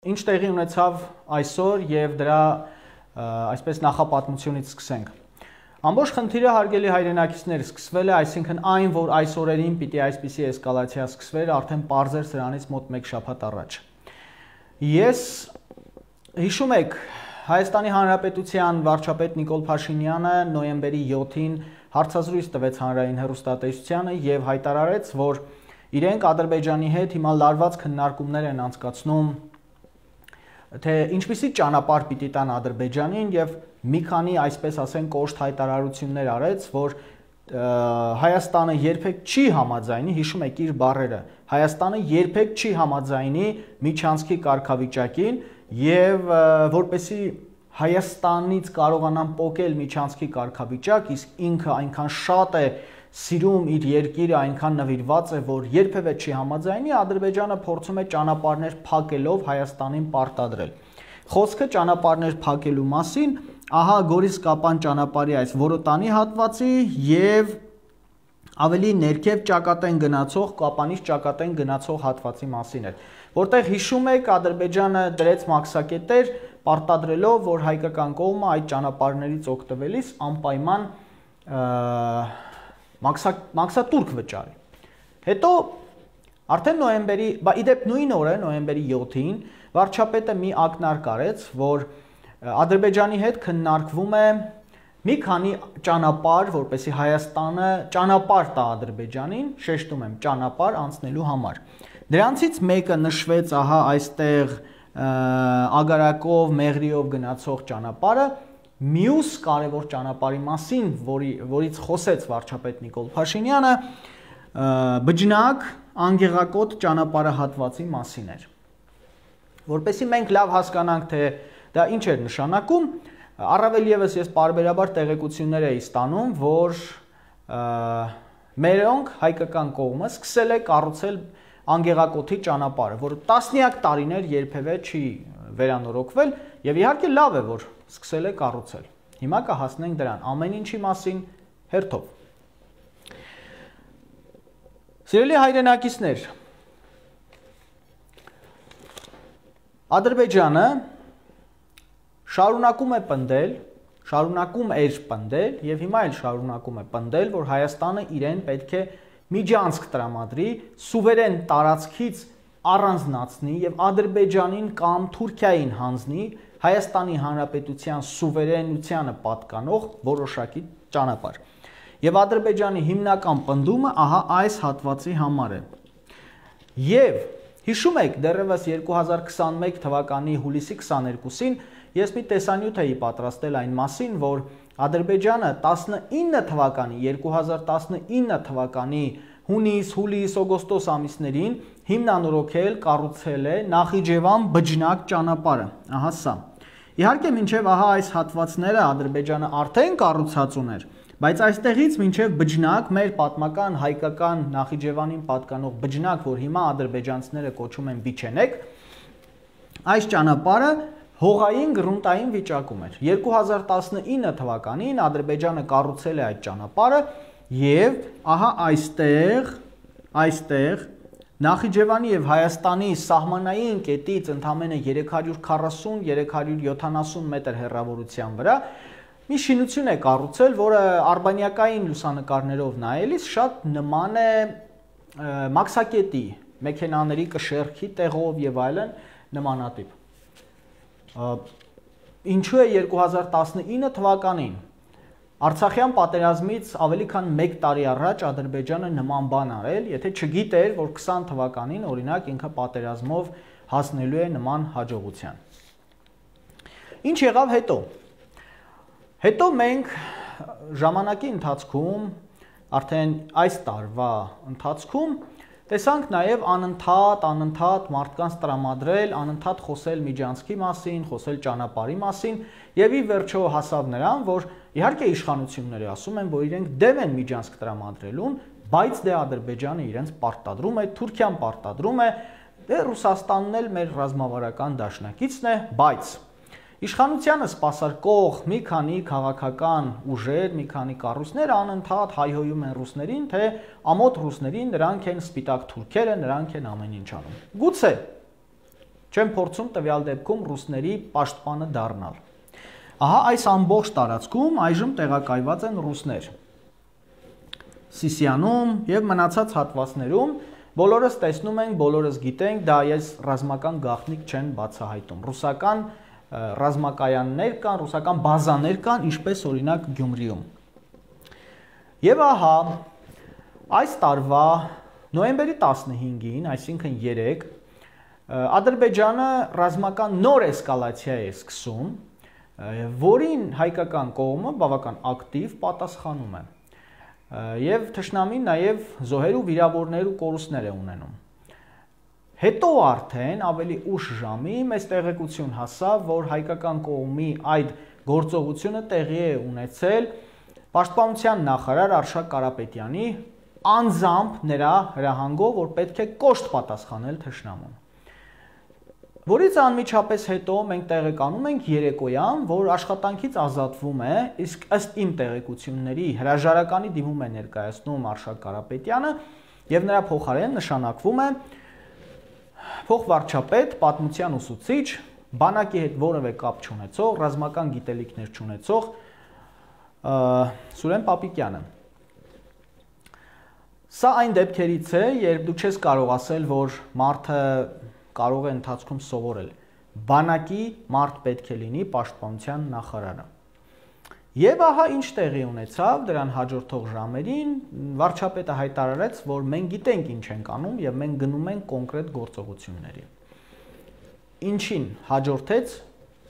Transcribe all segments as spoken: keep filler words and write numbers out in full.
Ինչ տեղի ունեցավ այսօր եւ դրա այսպես նախապատմությունից սկսենք։ Ամբողջ խնդիրը հարգելի հայրենակիցներ սկսվել է, այսինքն այն, որ այս օրերին պիտի այսպիսի էսկալացիա սկսվեր, արդեն պարզ էր սրանից մոտ մեկ շաբաթ առաջ։ Ես հիշում եք, Հայաստանի Հանրապետության վարչապետ Նիկոլ Փաշինյանը նոյեմբերի յոթին հարցազրույց տվեց հանրային հեռուստատեսությանը եւ հայտարարեց, որ իրենք Ադրբեջանի հետ հիմա լարված քննարկումներ են անցկացնում, թե ինչպիսի ճանապարհ պիտի տան Ադրբեջանին եւ մի քանի այսպես ասենք կոշտ հայտարարություններ արեց, որ Հայաստանը երբեք չի համաձայնի, հիշում եք իր բառերը, Հայաստանը երբեք չի համաձայնի միջանցքի կարգավիճակին եւ որպեսի Հայաստանից կարողանան պոկել միջանցքի կարգավիճակ, իսկ ինքը այնքան շատ է սիրում իր երկիրը, այնքան նվիրված է, որ երբևէ չի համաձայնի, Ադրբեջանը փորձում է ճանապարհներ փակելով Հայաստանին պարտադրել։ Խոսքը ճանապարհներ փակելու մասին, ահա Գորիս-Կապան ճանապարհի այս Որոտանի հատվածի եւ ավելի ներքև ճակատեն գնացող, Կապանից ճակատեն գնացող հատվածի մասին էր, որտեղ հիշում եք Ադրբեջանը դրեց մաքսակետեր, պարտադրելով, որ հայկական կողմը այդ ճանապարհներից օգտվելիս անպայման մաքսատուրք վճարի։ Հետո արդեն նոյեմբերի, բա իդեպ նույն օրը նոյեմբերի յոթին վարչապետը մի ակնարկ արեց, որ Ադրբեջանի հետ քննարկվում է մի քանի ճանապարհ, որպեսզի Հայաստանը ճանապարհ տա Ադրբեջանին, շեշտում եմ, ճանապարհ անցնելու համար։ Դրանցից մեկը նշվեց ահա այստեղ Ագարակով, Մեղրիով գնացող ճանապարհը, մյուս կարևոր ճանապարհի մասին, որի, որից խոսեց վարչապետ Նիկոլ Փաշինյանը, Բջնակ, Անգեղակոտ ճանապարհահատվածի մասին էր։ Որպեսզի մենք լավ հասկանանք, թե դա ինչ էր նշանակում, առավել ևս ես պարբերաբար տեղեկություններ էի ստանում, որ մերոնք հայկական կողմը սկսել է կառուցել Անգեղակոթի ճանապարհը, որ տասնյակ տարիներ երբևէ չի վերանորոգվել եւ իհարկե լավ է, որ սկսել է կառուցել։ Հիմա կհասնենք դրան, ամեն ինչի մասին հերթով։ Սիրելի հայրենակիցներ, Ադրբեջանը շարունակում է պնդել, շարունակում էր պնդել եւ հիմա էլ շարունակում է պնդել, որ Հայաստանը իրեն պետք է միջանցք տրամադրի, սուվերեն տարածքից առանձնացնի եւ Ադրբեջանին կամ Թուրքիային հանձնի Հայաստանի Հանրապետության սուվերենությանը պատկանող որոշակի ճանապարհ։ Եվ Ադրբեջանի հիմնական պնդումը ահա այս հատվածի համար է։ Եվ հիշում եք, դեռևս երկու հազար քսաներկու թվականի հուլիսի քսաներկուսին ես մի տեսանյութ էի պատրաստել այն մասին, որ Ադրբեջանը տասնինը թվականի, երկու հազար տասնինը թվականի հունիս, հուլիս, օգոստոս ամիսներին հիմնանորոգել, կառուցել է Նախիջևան Բջնակ ճանապարհը, ահա սա։ Իհարկե մինչև ահա այս հատվածները Ադրբեջանը արդեն կառուցած ուներ, բայց այստեղից մինչև Բջնակ, մեր պատմական հայկական Նախիջևանին պատկանող Բջնակ, որ հիմա ադրբեջանցիները կոչում են Բիչենեկ, այս ճանապարհը հողային գրունտային վիճակում էր։ երկու հազար տասնինը թվականին Ադրբեջանը կառուցել է այդ ճանապարհը եւ ահա այստեղ, այստեղ Նախիջևանի եւ Հայաստանի սահմանային կետից ընդամենը երեք հարյուր քառասուն երեք հարյուր յոթանասուն մետր հեռավորության վրա մի շինություն է կառուցել, որը արբանյակային լուսանկարներով նայելիս շատ նման է մաքսակետի, մեքենաների կշեռքի տեղով եւ այլն նմանատիպ։ Ինչու է երկու հազար տասնինը թվականին Արցախյան պատերազմից ավելի քան մեկ տարի առաջ Ադրբեջանը նման բան արել, եթե չգիտեր, որ քսան թվականին օրինակ ինքը պատերազմով հասնելու է նման հաջողության։ Ինչ եղավ հետո։ Հետո մենք ժամանակի ընթացքում, արդեն այս տարվա ընթացքում տեսանք նաև անընդհատ, անընդհատ մարդկանց տրամադրել, անընդհատ խոսել միջանցքի մասին, խոսել ճանապարհի մասին եւ ի վերջո հասավ նրան, որ իհարկե իշխանությունները ասում են, որ իրենք դեմ են միջանցք տրամադրելուն, բայց դե Ադրբեջանը իրենց պարտադրում է, Թուրքիան պարտադրում է, դե Ռուսաստանն էլ մեր ռազմավարական դաշնակիցն է, բայց Իշխանությանը սպասարկող մի քանի քաղաքական ուժեր, մի քանի կառույցներ անընդհատ հայհոյում են ռուսներին, թե ամոթ ռուսներին նրանք են սպիտակ թուրքերը, նրանք են ամեն ինչ անում։ Գուցե չեն փորձում տվյալ դեպքում ռուսների պաշտպանը դառնալ։ Ահա այս ամբողջ տարածքում այժմ տեղակայված են ռուսներ։ Սիսիանում եւ մնացած հատվածներում բոլորս տեսնում ենք, բոլորս գիտենք, դա ես ռազմական գաղտնիք չեն բացահայտում։ Ռուսական ռազմակայաններ կան, ռուսական բազաներ կան, ինչպես օրինակ Գյումրիում։ Եվ ահա այս տարվա նոյեմբերի տասնհինգին, այսինքն երեկ, Ադրբեջանը ռազմական նոր էսկալացիա է սկսում, որին հայկական կողմը բավական ակտիվ պատասխանում է։ Եվ թշնամին նաև զոհեր ու վիրավորներ ու կորուստներ է ունենում։ Հետո արդեն ավելի ուշ ժամի մեծ տեղեկություն հասավ, որ հայկական կողմի այդ գործողությունը տեղի է ունեցել Պաշտպանության նախարար Արշակ Կարապետյանի անձամբ նրա հրահանգով, որ պետք է կոշտ պատասխանել թշնամուն։ Որից անմիջապես հետո մենք տեղեկանում ենք երեկոյան, որ աշխատանքից ազատվում է, իսկ ըստ իմ տեղեկությունների հրաժարականի դիմում է ներկայացնում Արշակ Կարապետյանը եւ նրա փոխարեն նշանակվում է փոխվարչապետ, պատմության ուսուցիչ, բանակի հետ որևէ կապ չունեցող, ռազմական գիտելիքներ չունեցող Սուրեն Պապիկյանը։ Սա այն դեպքերից է, երբ դու չես կարող ասել, որ մարդը կարող է ընթացքում սովորել։ Բանակի մարդ պետք է լինի պաշտպանության նախարարը։ Եվ ահա ինչ տեղի ունեցավ, դրան հաջորդող ժամերին վարչապետը հայտարարեց, որ մենք գիտենք ինչ ենք անում եւ մենք գնում ենք կոնկրետ գործողությունների։ Ինչին հաջորդեց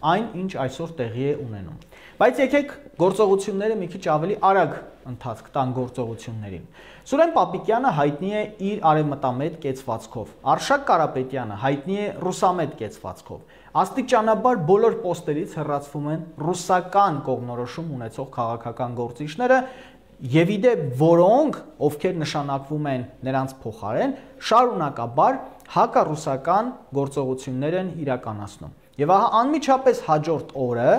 այն, ինչ այսօր տեղի է ունենում։ Բայց եկեք գործողությունները մի քիչ ավելի արագ ընթացք տան գործողություններին։ Սուրեն Պապիկյանը հայտնի է իր արևմտամետ կեցվածքով, Արշակ Կարապետյանը հայտնի է ռուսամետ կեցվածքով։ Աստիճանաբար բոլոր պոստերից հեռացվում են ռուսական կողմնորոշում ունեցող քաղաքական գործիչները, եւ իդեպ որոնք, ովքեր նշանակվում են նրանց փոխարեն, շարունակաբար հակառուսական գործողություններ են իրականացնում։ Եվ ահա անմիջապես հաջորդ օրը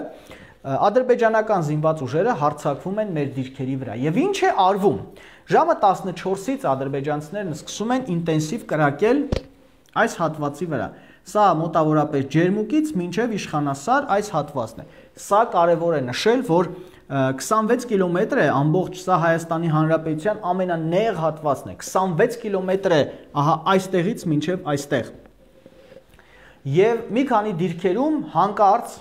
ադրբեջանական զինված ուժերը հարձակվում են մեր դիրքերի վրա։ Եվ ինչ է արվում։ Ժամը տասնչորսից ադրբեջանցիներն սկսում են ինտենսիվ կրակել այս հատվածի վրա։ Սա մոտավորապես Ջերմուկից մինչև Իշխանասար այս հատվածն է։ Սա կարևոր է նշել, որ քսանվեց կիլոմետր է ամբողջ սա Հայաստանի Հանրապետության ամենանեղ հատվածն է։ քսանվեց կիլոմետր է ահա այստեղից մինչև այստեղ։ Եվ մի քանի դիրքերում հանկարծ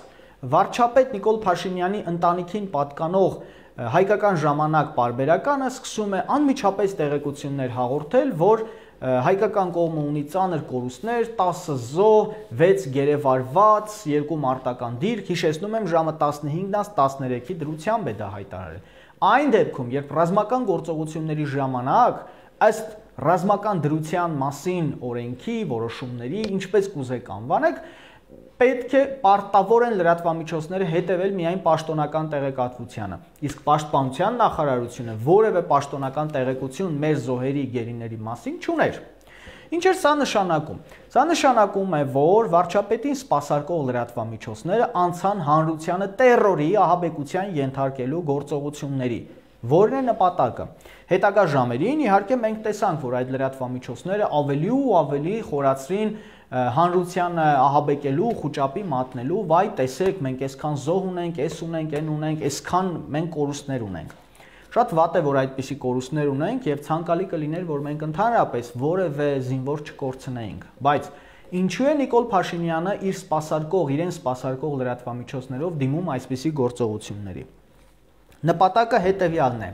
վարչապետ Նիկոլ Փաշինյանի ընտանիքին պատկանող հայկական ժամանակ պարբերականը սկսում է անմիջապես տեղեկություններ հաղորդել, որ հայկական կողմը ունի ծանր կորուստներ, տասը զոհ, վեց գերեվարված, երկու մարտական դիրք, հիշեցնում եմ ժամը տասնհինգից տասներեքի դրությամբ է դա հայտարարել։ Այն դեպքում, երբ ռազմական գործողությունների ժամանակ ըստ ռազմական դրության մասին օրենքի որոշումների, ինչպես կուզեք անվանեք, պետք է պարտավոր են լրատվամիջոցները հետևել միայն պաշտոնական տեղեկատվությանը, իսկ պաշտպանության նախարարությունը որևէ պաշտոնական տեղեկություն մեր զոհերի գերիների մասին չուներ։ Ինչ էր սա նշանակում։ Սա նշանակում է, որ վարչապետին սպասարկող լրատվամիջոցները անցան հանրությանը տերորի ահաբեկության ենթարկելու գործողությունների, որն է նպատակը։ Հետագա ժամերին իհարկե մենք տեսանք, որ այդ լրատվամիջոցները ավելի ու ավելի խորացրին հանրությանը ահաբեկելու, խուճապի մատնելու, վայ տեսեք, մենք այսքան զոհ ունենք, այս ունենք, այն ունենք, այսքան մենք կորուստներ ունենք։ Շատ վատ է, որ այդպիսի կորուստներ ունենք եւ ցանկալի կլիներ, որ մենք ընդհանրապես որևէ զինվոր չկորցնեինք։ Բայց ինչու է Նիկոլ Փաշինյանը իր սպասարկող, իրեն սպասարկող լրատվամիջոցներով դիմում այսպիսի գործողությունների։ Նպատակը հետեւյալն է։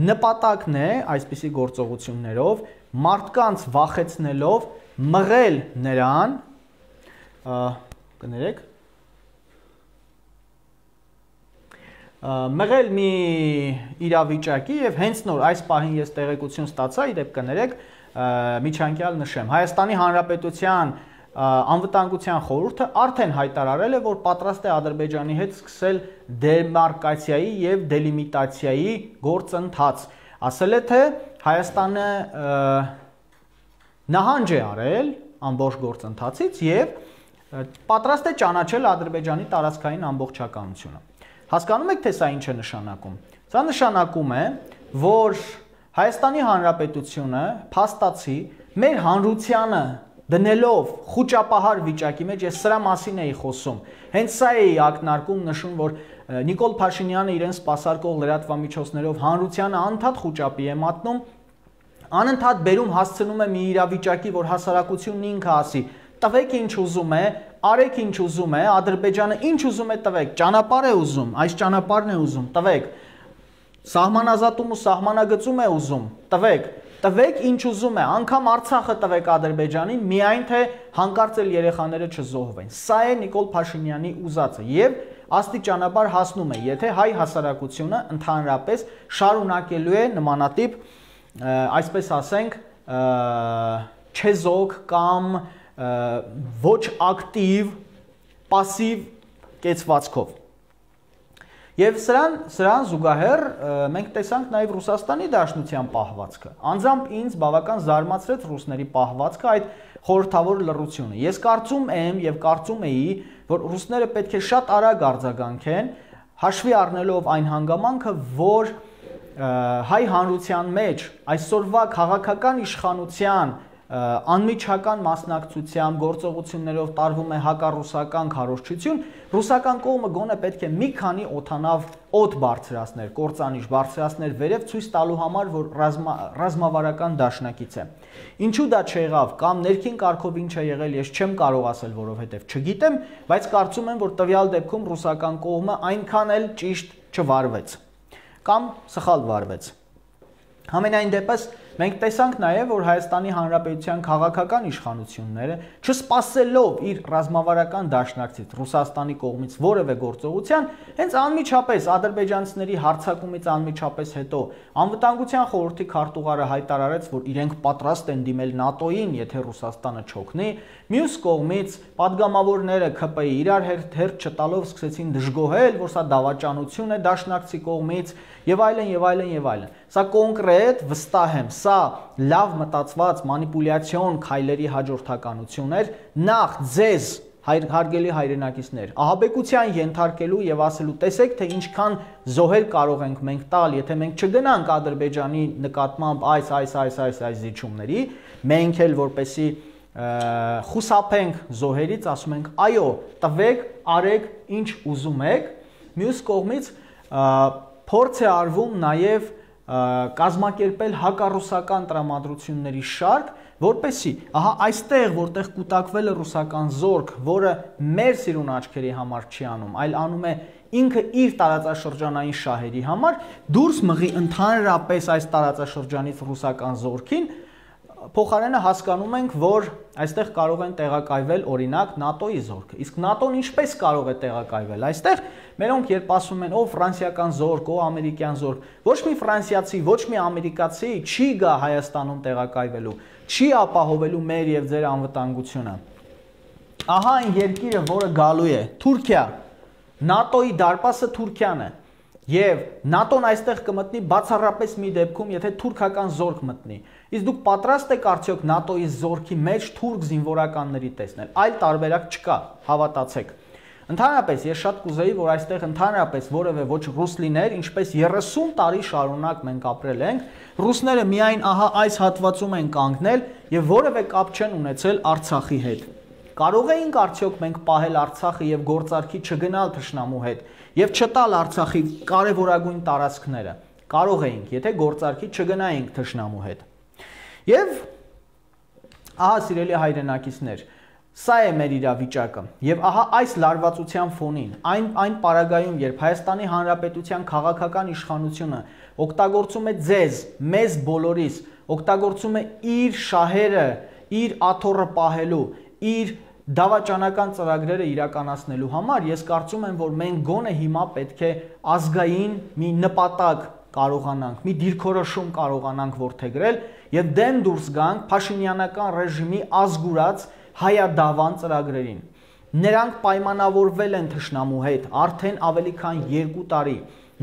Նպատակն է այսպիսի գործողություններով մարդկանց վախեցնելով մղել նրան, կներեք, մղել մի իրավիճակի եւ հենց նոր այս պահին ես տեղեկություն ստացա, իդեպ կներեք, միջանկյալ նշեմ, Հայաստանի Հանրապետության անվտանգության խորհուրդը արդեն հայտարարել է, որ պատրաստ է Ադրբեջանի հետ սկսել դեմարկացիայի եւ դելիմիտացիայի գործընթաց։ Ասել է, թե Հայաստանը նահանջ է արել ամբողջ գործընթացից եւ պատրաստ է ճանաչել Ադրբեջանի տարածքային ամբողջականությունը։ Հասկանում եք, թե սա ինչ է նշանակում։ Սա նշանակում է, որ Հայաստանի Հանրապետությունը փաստացի մեր հանրությանը դնելով խոճապահար վիճակի մեջ, ես սրա մասին էի խոսում։ Հենց սա էի ակնարկում, նշում, որ Նիկոլ Փաշինյանը իրեն սպասարկող լրատվամիջոցներով հանրությանը անընդհատ խոճապի է մատնում, անընդհատ բերում հասցնում է մի իրավիճակի, որ հասարակությունն ինքը ասի, տվեք ինչ ուզում է, արեք ինչ ուզում է, Ադրբեջանը ինչ ուզում է տվեք, ճանապարհ է ուզում, այս ճանապարհն է ուզում, տվեք, սահմանազատում ու սահմանագծում է ուզում, տվեք, տվեք ինչ ուզում է, անգամ Արցախը տվեք Ադրբեջանին, միայն թե հանկարծ էլ երեխաները չզոհվեն։ Սա է Նիկոլ Փաշինյանի ուզածը եւ աստիճանաբար հասնում է, եթե հայ հասարակությունը ընդհանրապես շարունակելու է նմանատիպ, այսպես ասենք, չեզոք կամ ոչ ակտիվ, պասիվ կեցվածքով։ Եվ սրան, սրան զուգահեռ մենք տեսանք նաև Ռուսաստանի Դաշնության պահվածքը։ Անձամբ ինձ բավական զարմացրեց ռուսների պահվածքը, այդ խորհրդավոր լռությունը։ Ես կարծում եմ եւ կարծում էի, որ ռուսները պետք է շատ արագ արձագանքեն, հաշվի առնելով այն հանգամանքը, որ հայ հանրության մեջ այսօրվա քաղաքական իշխանության անմիջական մասնակցությամբ գործողություններով տարվում է հակառուսական քարոզչություն, ռուսական կողմը գոնե պետք է մի քանի օդանավ օդ բարձրացներ, կործանիչ բարձրացներ վերև ցույց տալու համար, որ ռազմավարական դաշնակից է։ Ինչու դա չեղավ կամ ներքին կարգով ինչ է եղել, ես չեմ կարող ասել, որովհետև չգիտեմ, բայց կարծում եմ, որ տվյալ դեպքում ռուսական կողմը այնքան էլ ճիշտ չվարվեց կամ սխալ վարվեց։ Համենայն դեպս մենք տեսանք նաև, որ Հայաստանի Հանրապետության քաղաքական իշխանությունները չսպասելով իր ռազմավարական դաշնակցից Ռուսաստանի կողմից որևէ գործողության, հենց անմիջապես ադրբեջանցիների հարձակումից անմիջապես հետո անվտանգության խորհրդի քարտուղարը հայտարարեց, որ իրենք պատրաստ են դիմել ՆԱՏՕ-ին, եթե Ռուսաստանը չօգնի, մյուս կողմից падգամավորները ՔՊ-ի իրար հետ հերթ չտալով սկսեցին դժգոհել, որ սա դավաճանություն է դաշնակցի կողմից եւ այլն եւ այլն եւ այլն։ Սա կոնկրետ վստահ եմ, սա լավ մտածված մանիպուլյացիոն քայլերի հաջորդականություն էր նախ ձեզ հարգելի հայրենակիցներ ահաբեկության ենթարկելու եւ ասելու տեսեք թե ինչքան զոհեր կարող ենք մենք տալ, եթե մենք չգնանք Ադրբեջանի նկատմամբ այս այս այս այս այս զիջումների, մենք էլ որպեսի խուսափենք զոհերից, ասում ենք այո, տվեք, արեք ինչ ուզում եք, մյուս կողմից փորձ է արվում նաև կազմակերպել հակառուսական տրամադրությունների շարք, որպեսզի ահա այստեղ, որտեղ կուտակվել է ռուսական զորք, որը մեր սիրուն աչքերի համար չի անում, այլ անում է ինքը իր տարածաշրջանային շահերի համար, դուրս մղի ընդհանրապես այս տարածաշրջանից ռուսական զորքին, փոխարենը հասկանում ենք, որ այստեղ կարող են տեղակայվել օրինակ ՆԱՏՕ-ի զորքը։ Իսկ ՆԱՏՕ-ն ինչպես կարող է տեղակայվել այստեղ։ Մերոնք երբ ասում են, ով ֆրանսիական զորք, ով ամերիկյան զորք, ոչ մի ֆրանսիացի, ոչ մի ամերիկացի չի գա Հայաստանում տեղակայվելու, չի ապահովելու մեր եւ ձեր անվտանգությունը։ Ահա այն երկիրը, որը գալու է, Թուրքիա, ՆԱՏՕ-ի դարպասը Թուրքիան է։ Եվ ՆԱՏՕ-ն այստեղ կմտնի բացառապես մի դեպքում, եթե թուրքական զորք մտնի։ Իսկ դուք պատրաստ եք արդյոք ՆԱՏՕ-ի զորքի մեջ թուրք զինվորականների տեսնել։ Այլ տարբերակ չկա, հավատացեք։ Ընդհանրապես ես շատ կուզեի, որ այստեղ ընդհանրապես որևէ ոչ ռուս լիներ, ինչպես երեսուն տարի շարունակ մենք ապրել ենք, ռուսները միայն ահա այս հատվածում են կանգնել եւ որևէ կապ չեն ունեցել Արցախի հետ։ Կարող էինք արդյոք մենք պահել Արցախը եւ գործարքի չգնալ թշնամու հետ եւ չտալ Արցախի կարևորագույն տարածքները։ Կարող էինք, եթե գործարքի չգնայինք թշնամու հետ։ Եվ ահա սիրելի հայրենակիցներ, սա է մեր իրավիճակը։ Եվ ահա այս լարվածության ֆոնին, այն այն պարագայում, երբ Հայաստանի Հանրապետության քաղաքական իշխանությունը օգտագործում է ձեզ, մեզ բոլորիս, օգտագործում է իր շահերը, իր աթոռը պահելու, իր դավաճանական ծրագրերը իրականացնելու համար, ես կարծում եմ, որ մենք գոնե հիմա պետք է ազգային մի նպատակ կարողանանք, մի դիրքորոշում կարողանանք որդեգրել եւ դեմ դուրս գանք փաշինյանական ռեժիմի ազգուրած հայադավան ծրագրերին։ Նրանք պայմանավորվել են թշնամու հետ արդեն ավելի քան երկու տարի։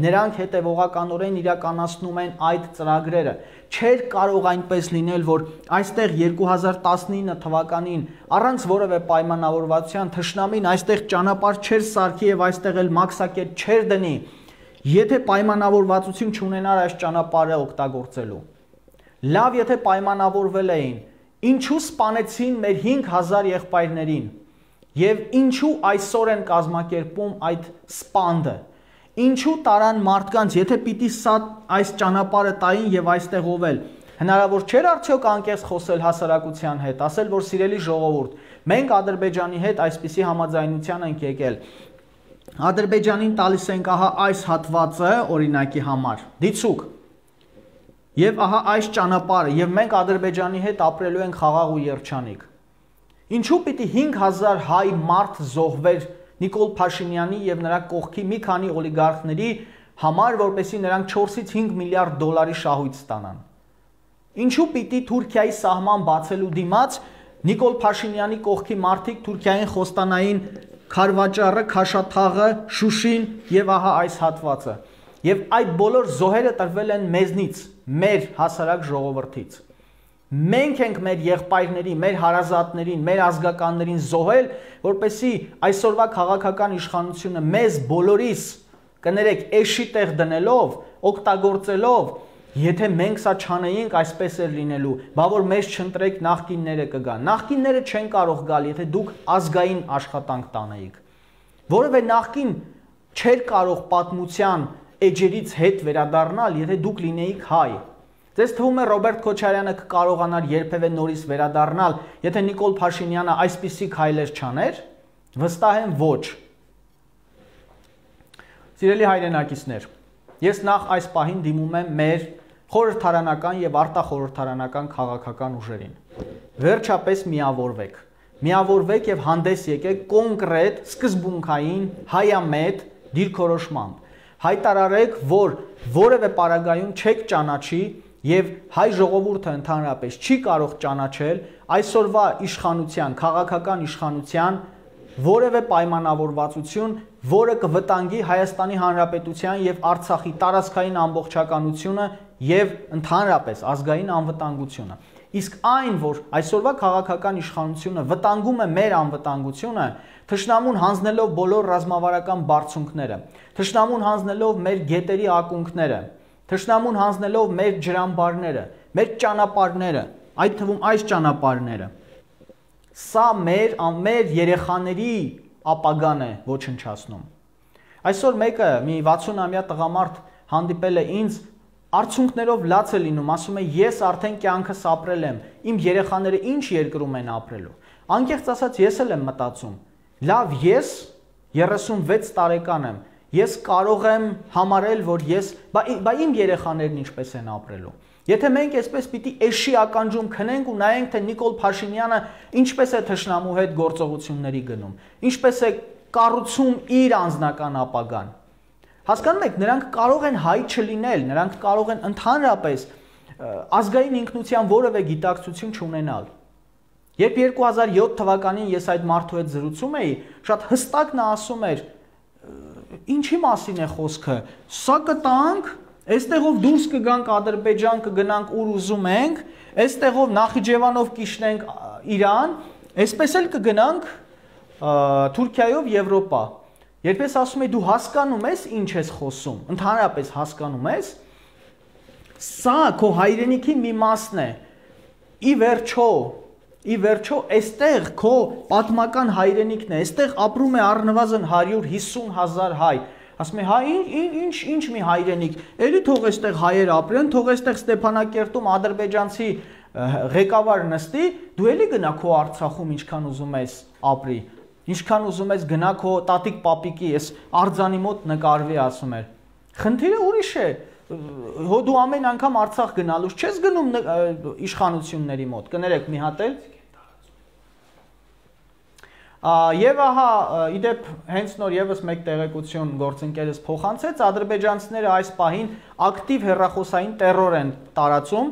Նրանք հետևողականորեն իրականացնում են այդ ծրագրերը։ Չէր կարող այնպես լինել, որ այստեղ երկու հազար տասնինը թվականին առանց որևէ պայմանավորվածության թշնամին այստեղ ճանապարհ չէր սարքի եւ այստեղ էլ մաքսակետ չէր դնի, եթե պայմանավորվածություն չունենար այս ճանապարհը օգտագործելու։ Լավ, եթե պայմանավորվել էին, Ինչու սպանեցին մեր հինգ հազար եղբայրներին եւ ինչու այսօր են կազմակերպում այդ սպանդը։ Ինչու տարան մարդկանց, եթե պիտի սա այս ճանապարհը տային եւ այստեղ ովել, հնարավոր չէր արդյոք անկեղծ խոսել հասարակության հետ, ասել, որ սիրելի ժողովուրդ, մենք Ադրբեջանի հետ այսպիսի համաձայնության ենք եկել։ Ադրբեջանին տալիս ենք ահա այս հատվածը օրինակի համար, դիցուկ։ Եվ ահա այս ճանապարհը, եւ մենք Ադրբեջանի հետ ապրելու ենք խաղաղ ու երջանիկ։ Ինչու պիտի հինգ հազար հայ մարդ զոհվեր Նիկոլ Փաշինյանի եւ նրա կողքի մի քանի օլիգարխների համար, որպեսզի նրանք չորսից հինգ միլիարդ դոլարի շահույթ ստանան։ Ինչու պիտի Թուրքիայի սահման բացելու դիմաց Նիկոլ Փաշինյանի կողքի մարդիկ Թուրքիային խոստանային Քարվաճառը, Քաշաթաղը, Շուշին եւ ահա այս հատվածը։ Եվ այդ բոլոր զոհերը տրվել են մեզնից, մեր հասարակ ժողովրդից։ Մենք ենք մեր եղբայրների, մեր հարազատներին, մեր ազգականներին զոհել, որպեսզի այսօրվա քաղաքական իշխանությունը մեզ բոլորիս կներեք էշի տեղ դնելով, օգտագործելով, եթե մենք սա չանեինք, այսպես էր լինելու, բա որ մեզ չընտրեք նախկինները կգան։ Նախկինները չեն կարող գալ, եթե դուք ազգային աշխատանք տանեիք։ Որևէ նախկին չէր կարող պատմության էջերից հետ վերադառնալ, եթե դուք լինեիք հայ։ Ձեզ թվում է Ռոբերտ Քոչարյանը կկարողանար երբևէ նորից վերադառնալ, եթե Նիկոլ Փաշինյանը այսպիսի քայլեր չաներ։ Վստահ եմ ոչ։ Սիրելի հայրենակիցներ, ես նախ այս պահին դիմում եմ մեր խորհրդարանական եւ արտախորհրդարանական քաղաքական ուժերին։ Վերջապես միավորվեք։ Միավորվեք եւ հանդես եկեք կոնկրետ, սկզբունքային, հայամետ դիրքորոշմամբ։ Հայտարարեք, որ որևէ պարագայում չեք ճանաչի եւ հայ ժողովուրդը ընդհանրապես չի կարող ճանաչել այսօրվա իշխանության, քաղաքական իշխանության որևէ պայմանավորվածություն, որը կվտանգի Հայաստանի Հանրապետության եւ Արցախի տարածքային ամբողջականությունը եւ ընդհանրապես ազգային անվտանգությունը։ Իսկ այն, որ այսօրվա քաղաքական իշխանությունը վտանգում է մեր անվտանգությունը, թշնամուն հանձնելով բոլոր ռազմավարական բարձունքները, թշնամուն հանձնելով մեր գետերի ակունքները, թշնամուն հանձնելով մեր ջրամբարները, մեր ճանապարհները, այդ թվում այս ճանապարհները, սա մեր մեր երեխաների ապագան է ոչնչացնում։ Այսօր մեկը մի վաթսուն-ամյա տղամարդ հանդիպել է ինձ, արցունքներով լաց է լինում, ասում է ես արդեն կյանքս ապրել եմ, իմ երեխաները ինչ երկրում են ապրելու։ Անկեղծ ասած ես էլ եմ մտածում, լավ, ես երեսունվեց տարեկան եմ, ես կարող եմ համարել, որ ես, բա, բա իմ երեխաներն ինչպես են ապրելու։ Եթե մենք այսպես պիտի էշի ականջում քնենք ու նայենք, թե Նիկոլ Փաշինյանը ինչպես է թշնամու հետ գործողությունների գնում, ինչպես է կառուցում իր անձնական ապագան։ Հասկանում եք, նրանք կարող են հայ չլինել, նրանք կարող են ընդհանրապես ազգային ինքնության որևէ գիտակցություն չունենալ։ Երբ երկու հազար յոթ թվականին ես այդ մարդու հետ զրուցում էի, շատ հստակ նա ասում էր, ինչի մասին է խոսքը, սա կտանք, այստեղով դուրս կգանք Ադրբեջան, կգնանք ուր ուզում ենք, այստեղով Նախիջևանով կիշխնենք Իրան, այսպես էլ կգնանք Թուրքիայով Եվրոպա։ Երբ ես ասում եմ դու հասկանում ես ինչ ես խոսում, ընդհանրապես հասկանում ես, սա քո հայրենիքի մի մասն է։ Ի վերջո, ի վերջո այստեղ քո պատմական հայրենիքն է, այստեղ ապրում է առնվազն հարյուր հիսուն հազար հայ։ Ասում եմ, հա ինչ ինչ մի հայրենիք, էլի թող այստեղ հայեր ապրեն, թող այստեղ Ստեփանակերտում ադրբեջանցի ղեկավար նստի, դու էլի գնա քո Արցախում ինչքան ուզում ես ապրի, ինչքան ուզում ես գնա քո տատիկ պապիկի, այս արձանի մոտ նկարվի, ասում էր։ Խնդիրը ուրիշ է, հո դու ամեն անգամ Արցախ գնալուց չես գնում իշխանությունների մոտ, կներեք մի հատ էլ։ Եվ ահա, իդեպ հենց նոր եւս մեկ տեղեկություն գործընկերս փոխանցեց, ադրբեջանցիները այս պահին ակտիվ հեռախոսային տերոր են տարածում,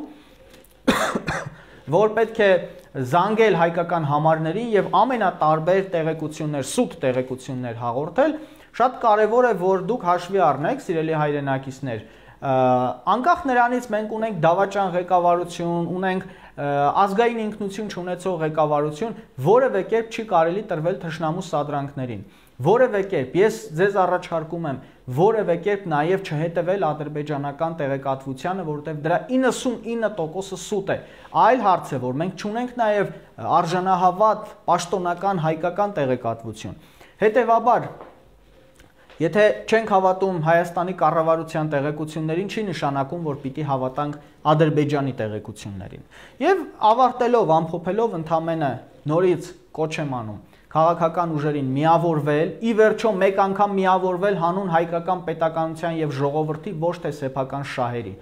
որ պետք է զանգել հայկական համարներին եւ ամենատարբեր տեղեկություններ, սուտ տեղեկություններ հաղորդել։ Շատ կարեւոր է, որ դուք հաշվի առնեք, սիրելի հայրենակիցներ, անկախ նրանից մենք ունենք դավաճան ղեկավարություն, ունենք ազգային ինքնություն չունեցող ղեկավարություն, որևէ կերպ չի կարելի տրվել թշնամու սադրանքներին։ Որևէ կերպ ես ձեզ առաջարկում եմ որևէ կերպ նաև չհետևել ադրբեջանական տեղեկատվությանը, որովհետև դրա իննսունինը տոկոսը սուտ է։ Այլ հարց է, որ մենք չունենք նաև արժանահավատ պաշտոնական հայկական տեղեկատվություն։ Հետևաբար, եթե չենք հավատում Հայաստանի կառավարության տեղեկություններին, չի նշանակում, որ պիտի հավատանք Ադրբեջանի տեղեկություններին։ Եվ ավարտելով, ամփոփելով ընդամենը նորից կոչ եմ անում քաղաքական ուժերին միավորվել, ի վերջո մեկ անգամ միավորվել հանուն հայկական պետականության եւ ժողովրդի, ոչ թե սեփական շահերի։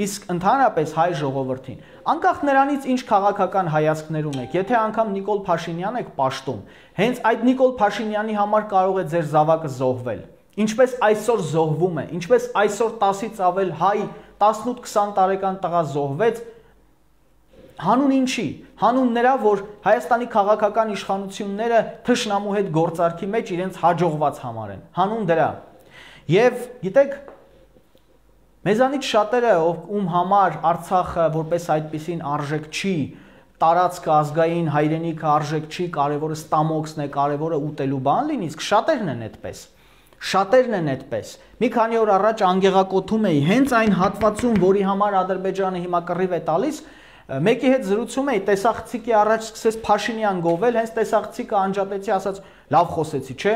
Իսկ ընդհանրապես հայ ժողովրդին, անկախ նրանից ինչ քաղաքական հայացքներ ունեք, եթե անգամ Նիկոլ Փաշինյան եք պաշտում, հենց այդ Նիկոլ Փաշինյանի համար կարող է ձեր զավակը զոհվել։ Ինչպես այսօր զոհվում է, ինչպես այսօր տասից ավել հայ տասնութ քսան տարեկան տղա զոհվեց, հանուն ինչի, հանուն նրա, որ Հայաստանի քաղաքական իշխանությունները թշնամու հետ գործարքի մեջ իրենց հաջողված համարեն, հանուն դրա։ Եվ գիտեք, մեզանից շատերը, ում համար Արցախը որպես այդպիսին արժեք չի, տարածքը ազգային հայրենիքը արժեք չի, կարևորը ստամոքսն է, կարևորը ուտելու բան լինի, իսկ շատերն են այդպես։ Շատերն են այդպես։ Մի քանի օր առաջ անգեղակոթում էի հենց այն հատվածում, որի համար Ադրբեջանը հիմա կռիվ է տալիս, մեկի հետ զրուցում էի, տեսախցիկի առաջ սկսեց Փաշինյան գովել, հենց տեսախցիկը անջատեցի, ասաց լավ խոսեցի, չէ։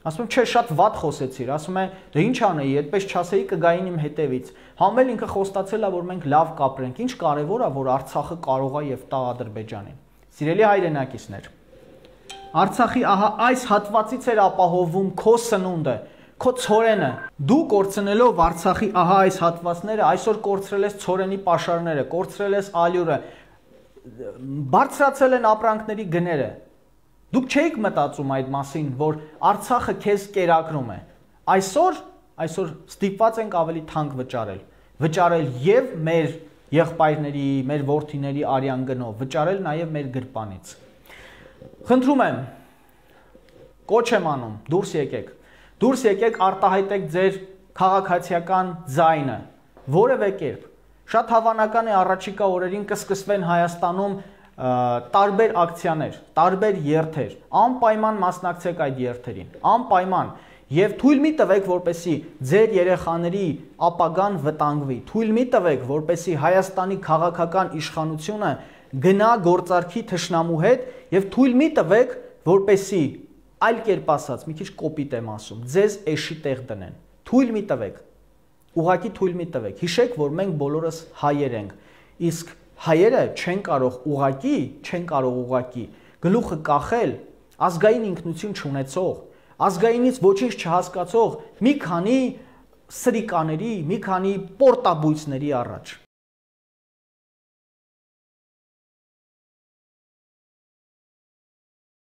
Ասում եմ, չէ, շատ վատ խոսեցիր, ասում է, դե ինչ անեի, այդպես չասեի կգային իմ հետևից։ Համել ինքը խոստացել է, որ մենք լավ կապրենք, ինչ կարևոր է, որ Արցախը կարող է եւ տա Ադրբեջանին։ Սիրելի հայրենակիցներ, Արցախի ահա այս հատվածից էր ապահովում քո սնունդը, քո ցորենը։ Դու կորցնելով Արցախի ահա այս հատվածները, այսօր կորցրել ես ցորենի պաշարները, կորցրել ես ալյուրը, բարձրացել են ապրանքների գները։ Դուք չէիք մտածում այդ մասին, որ Արցախը քեզ կերակրում է։ Այսօր, այսօր ստիպված ենք ավելի թանկ վճարել։ Վճարել եւ մեր եղբայրների, մեր որդիների արյան գնով, վճարել նաեւ մեր գրպանից։ Խնդրում եմ, կոչ եմ անում, դուրս եկեք։ Դուրս եկեք արտահայտեք ձեր քաղաքացիական ձայնը, որևէ կերպ։ Շատ հավանական է առաջիկա օրերին կսկսվեն Հայաստանում տարբեր ակցիաներ, տարբեր երթեր, անպայման մասնակցեք այդ երթերին, անպայման, եւ թույլ մի տվեք, որպեսի ձեր երեխաների ապագան վտանգվի, թույլ մի տվեք, որպեսի Հայաստանի քաղաքական իշխանությունը գնա գործարքի թշնամու հետ եւ թույլ մի տվեք, որպեսի այլ կերպ ասած, մի քիչ կոպիտ եմ ասում, ձեզ էշի տեղ դնեն, թույլ մի տվեք, ուղղակի թույլ մի տվեք, հիշեք, որ մենք բոլորս հայեր ենք, իսկ հայերը չեն կարող ուղղակի, չեն կարող ուղղակի գլուխը կախել ազգային ինքնություն չունեցող, ազգայինից ոչինչ չհասկացող մի քանի սրիկաների, մի քանի պորտաբույծների առաջ։